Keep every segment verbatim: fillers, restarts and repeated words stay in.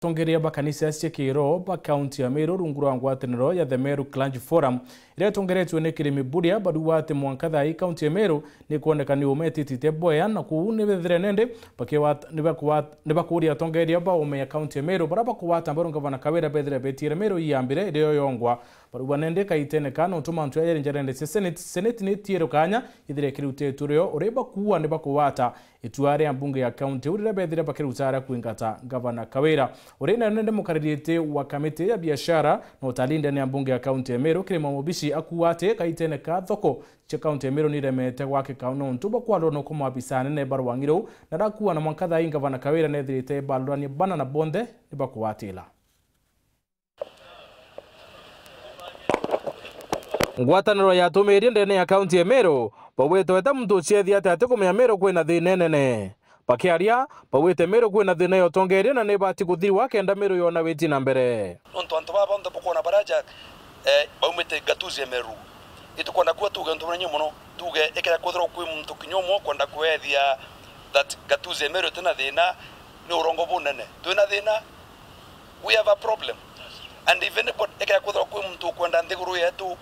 Atongeria ba kanisa cia kiroho ba kaunti ya Meru rungu rwa ngwataniro ya The Meru Clergy Forum iria itongeretue ni Kirimi Buria barauga ati mwanka thaa ii kaunti ya Meru ni kwoneka ni umetitite boya, na kuu ni bethire nende bakiwat-, ni bakuwat-, ni bakuria atongeria ba ume ya kaunti ya Meru bara bakuwata mbaru ngavana Kawira bethire betiere Meru iyambire irio yongwa. Barauga nende kaitene ka nontu mantu yaya yari njarende cia Senate, Senate ni itiere kanya ithire ikiruta iturio uria bakuua ni bakuwata itua ria mbunge ya kaunti iu riria bethire bakiruta aria kwingata ngavana Kawira. Uria nayo nende mukaririte wa kamiti ya biashara na utalii ndene ya mbunge ya kaunti ya Meru, Kirima Mubishi, akuuga ati kaitene ka thoko cia kaunti ya Meru niremete gwakika nontu bwa kwarurwa nuku maabisa anene ba rwang'i ruu, na arakuuga na mwanka thaa ii ngavana Kawira nethirite barurania bana na bonthe ni bakuwatila. Ngwataniro ya atumiria ndene ya kaunti ya Meru baugite weta muntu uciethia ati atikumenya Meru kwina thina inene. Bakiaria, baugite Meru kwina thina ya utongeria na nibati kuthirwa kenda Meru yona witi na mbere. Nontu antu baba bonthe bukwona baraja, eh, baumite ngatuzi ya Meru. Itukwenda kuwa tuge untu bunene mono, tuge ikira kwithirwa kwi muntu kinya umwe ukwenda kwethia that ngatuzi ya Meru itina thina, ni urongo bunene. Twina thina, we have a problem. And if anybody, ekea kwithirwa kwi muntu ukwenda nthiguru yetu,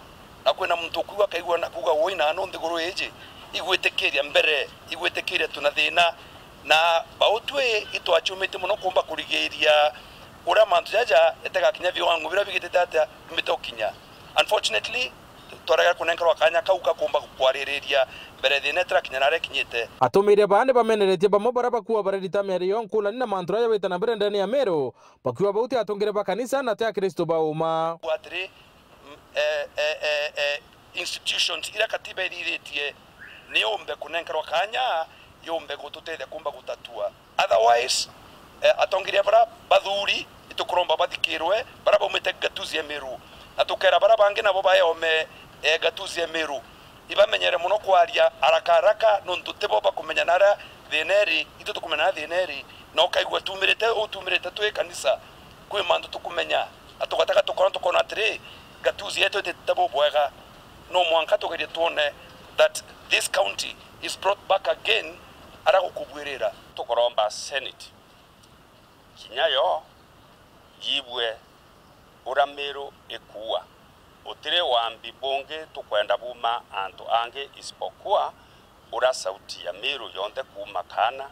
na kwina muntu ukuigua akaigua na kuuga, "Woi, nanu nthiguru iji igwitikiria mbere, igwitikiria tuna thina." Na bautwi itwachumite mono kumba kurigiiria uria mantu jaja itegakinya viwango biria bigitite atia bimite ukinya. Unfortunately, twarega kunenkerwa kanya kau ka kumba kwaririria mbere thina itirakinya naria ikinyite. Atumiria baa ni bameneretie bamwe baria bakua bararita miario nkulani na mantu jaria jawita na mbere ndene ya Meru, bakiuga bau ti atongere ba kanisa na ti Akristo ba uma. Atiri, m-, eh, eh, eh, eh, institutions iria katiba ithithitie ni yumbe kunenkerwa kanya, yumbe gututethia kumba gutatua. Otherwise, eh, atongeria bara bathuri itukuromba bathikirwe, bara baumite ngatuzi ya Meru, na tukera bara bangi nabo baeome, eh, ngatuzi ya Meru. Ibamenyere mono kwaria haraka haraka, nontu tibo bakumenya naria thina iri, itu tukumenya naria thina iri, na ukaigua tumirite, utumirite twi kanisa, kwi mantu tukumenya, na tugatega tukona, tukona atiri, ngatuzi yetu ititite bubwega. No mwanka tugerie twone that this county is brought back again, ara gukubwirira. Tukuromba Senate kinya yo yibue uria Meru ikuua. Utiri wambi bungi tukwenda buma antu angi isipokuwa uria sauti ya Meru yonthe kuuma kaana,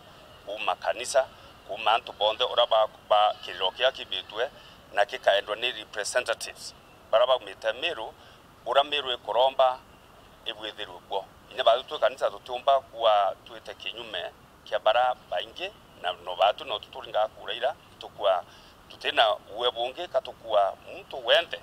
kuuma kanisa, kuuma antu bonthe uria ba, ba kiriro kiria kibitwe na kikaendwa ni representatives baria baumite Meru, uria Meru ikuromba ibwithirwe bwo. Inya baathu twi kanisa tutiumba kuwa twite kinyume kia bara baingi, na no baathu no tuturinga kura ira tukua tutina uwe bungi ka tukua muntu wenthe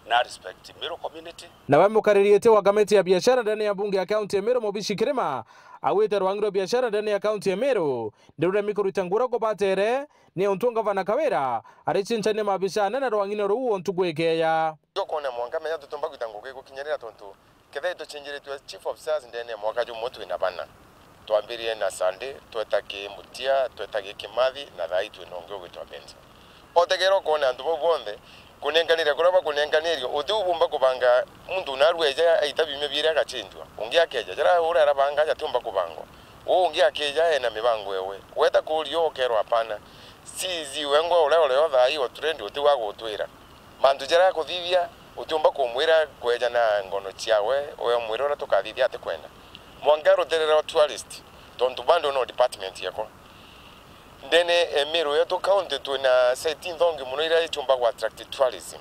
na respect Meru community. Nawe mukariritie wa kamiti ya biashara ndene ya bunge ya kaunti ya Meru, Mubishi Kirima, awite rwangi rwa biashara ndene ya kaunti ya Meru ndiruremi kuruta ngura kubatere ni untu ngavana Kawira aricinchania maabisa anene rwang'ine ruu o ntuku ikeeya. Ukona mwanka menya tutiumba gwita ngugi gukinyirira, tontu kethira itucinjiritwe chief officers ndene ya mwaka jumwe twina bana. Twambirie na Sunday, tweta ki Mutia, tweta ki Kimathi, na thaa ii twina ungi ugwitwa Benson. Otegera ukona antu bau bonthe kunenkanire kuria bakunenkanirue, uti ubumba kubanga muntu naru eja aita biumia biiri agachinjwa, ungi akeja, jaria uria arabanga jatiumba kubangwa. Uu ungi akeja ena mibango ewe. Weta kuuria ukerwa, "Hapana, C E C wengwa uria urio thaa ii o trend uti wa gutwira." Mantu jaria akuthithia, utiumba kumwira kweja na ngono ciawe, we umwire uria tukathithia atikwenda. Mwanka rutere rwa tourist, tontu bado no department yako. Ndene e Meru yetu county twina site nthongi mono iria itiumba ku attract tourism.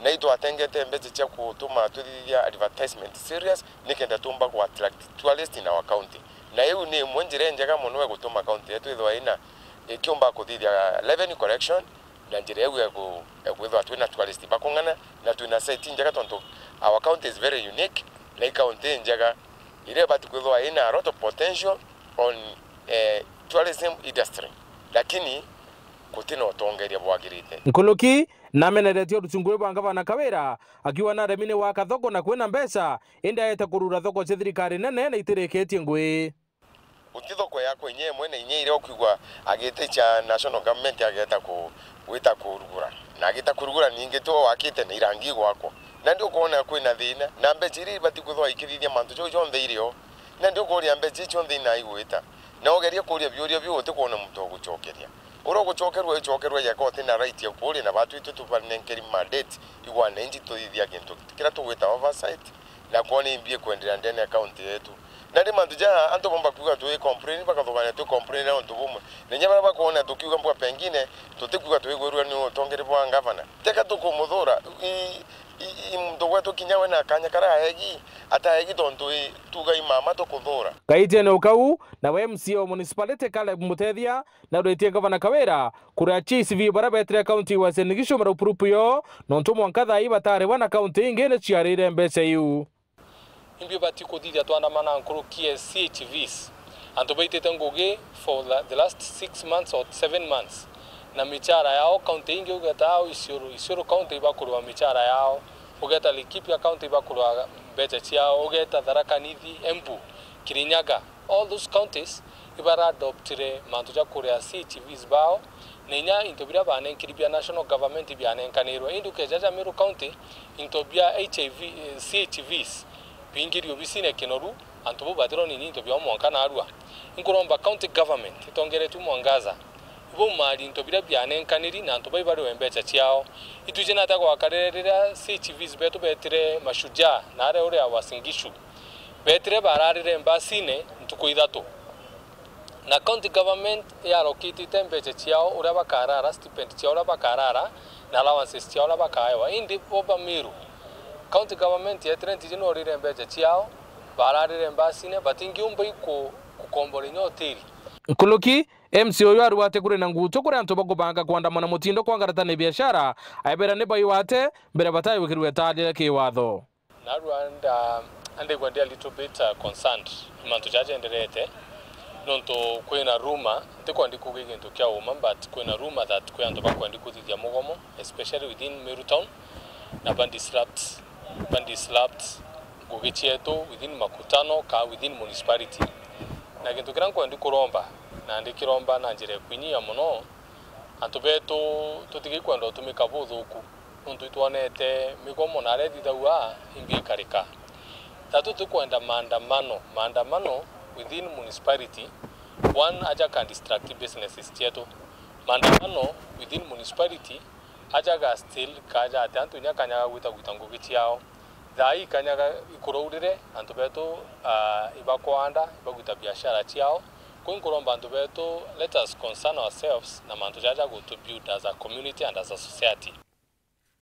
Na itwatengete mbeca cia gutuma twithithia advertisement serious, nikenda tumba ku attract tourist in our county. Na iu ni imwe njira injega mono ya gutuma county yetu ithwa ina, ikiumba kuthithia revenue collection, na njira iu ya ku-, ya kwithwa twina tourist bakung'ana, na twina site njega, tontu our county is very unique, na i county njega, iria ibati kwithwa ina a lot of potential on, eh, tourism industry, lakini gutina utongeria bwagirite. Nkuluki nameneretie urucungu bwa ngavana Kawira, akiuga naremi ni gwaka thoko na kwina mbeca, indi aete kurura thoko cia thirikari nene na itirikitie ngui. Guti thoko yakwa inya imwe na inya iria ukwigua agite cia national government ageta ku-, gwita kurugura. Na agita kurugura ningi tu wakite na irangi gwakwa. Na ndi ukwona kwina thina, na mbeca iria ibati kwithwa ikithithia mantu jau jonthe irio. Na ndi ukuria mbeca icio cionthe ina igwita. Na ugerie kuria biuria biu utikwona muntu ugucokeria. Uria ugucokerua icokerua yeka uti na right ya kuuria na batu itu tubanenkeri mandate igwane inji tuthithia gintu kiria tugwita oversight, na kwona imbi ikwenderea ndene ya county yetu. Na ri mantu ja antu bomba kuuga twi complain, bakathugania twi complain na untu bumwe. Na inya baria bakwona tukiuga mbwa pengine tutikuuga twigwirua ni utongeri bwa ngavana. Teka tukumuthura, i, i, i muntu gwetu kinya we na kanya karia aegi, ataegi tontu i, tuuga i mama tukuthura. Kaitiene ukau, nawe M C A wa municipality Caleb Mutethia nauritie Gavana Kawira kuria C H Vs baria betire kaunti ya Uasin Gishu marupurupu yo, nontu mwanka thaa ii bataribwa na kaunti ingi ni ciarire mbeca iu. Imbi bati kuthithia twandamana nkuruki ya C H Vs? Antu baitite ngugi for the, the last six months or seven months, na michara yao kaunti ingi ugeta au Isiolo, Isiolo kaunti ibakurwa michara yao, ugeta Laikipia kaunti ibakurwa mbeca ciao, ugeta Tharaka Nithi, Embu, Kirinyaga, all those counties ibara adoptire mantu ja kuria C H Vs bao, na inya into biria banenkiri bia national government bianenkanirwe. Indi ukeja ja Meru County, into bia H I V, eh, C H Vs bingiri obisine Kinoru, antu bau batirwa ni into biao mwanka narua. Inkuromba county government itongeretue Mwangaza, ibaumari into biria bianenkaniri na antu bai bariwe mbeca ciao. Itwiji nata gwakarire riria C H Vs betu betire Mashujaa na aria uria Uasin Gishu. Betire bararire mbasine ntuku ithatu. Na county government yarokitite mbeca ciao uria bakarara, stipend ciao uria bakarara, na allowances ciao uria bakaewa. Indi bo ba Meru, county government yetire ntiji norire mbeca ciao, bararire mbasine, batingiumba iku-, kukombora inya hoteli. Nkuruki, M C A uyu arugwa ati kuri na ngutu kuri antu bakubanga kwandamana mutindo kwangaratania biashara, aibera ni baiwate mbere bataiwikirwe taarire kiwatho. Narua nda-, andigwa ndi a little bit, uh, concerned ni mantu jaja jaenderete, nontu kwina rumor, ntikwendi kuuga gintu kia uma, but kwina rumor that kwi antu bakwendi kuthithia mugomo, especially within Meru town, na ba disrupt, ba disrupt ngugi cietu within makutano ka within municipality. Na gintu kiria nkwendi kuromba, na ndikiromba na njira ya kwinyia mono, antu betu tutigikwenda utumika buthuku. Nontu itwonete migomo na aria ithithagua imbi ikarika. Tatu tukwenda maandamano, maandamano within municipality, one aja ka distract businesses cietu. Maandamano within municipality aja ga still kaja ati antu inya kanyaga gwita gwita ngugi ciao. Thaa ii kanyaga ikuraurire, antu betu, ah, ibakwanda, ibagwita biashara ciao. Kwi nkuromba antu betu, let us concern ourselves na mantu jaja gutu build as a community and as a society.